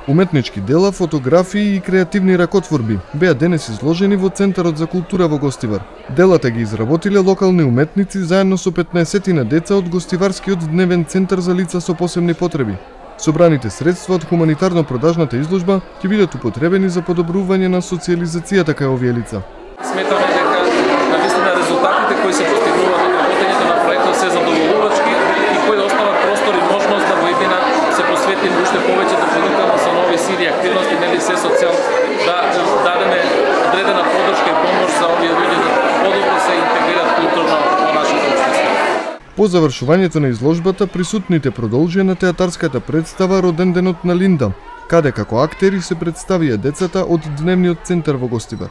Уметнички дела, фотографии и креативни ракотворби беа денес изложени во Центарот за култура во Гостивар. Делата ги изработиле локални уметници заедно со 15 деца од Гостиварскиот дневен центар за лица со посебни потреби. Собраните средства од хуманитарно-продажната изложба ќе бидат употребени за подобрување на социјализацијата кај овие лица. Сметаме дека навистина резултатите кои се постигнуваат од работењето на проектот се задоволувачки и кои остават простор и можност да во иднина се посвети уште повеќе дополнително со нови сили и активности, нели се со цел да дадеме одредена поддршка и помош за овие луѓе да подобро се интегрираат културно во нашето општество. По завршувањето на изложбата, присутните продолжија на театарската представа Роден денот на Линда, каде како актери се представија децата од дневниот центар во Гостивар.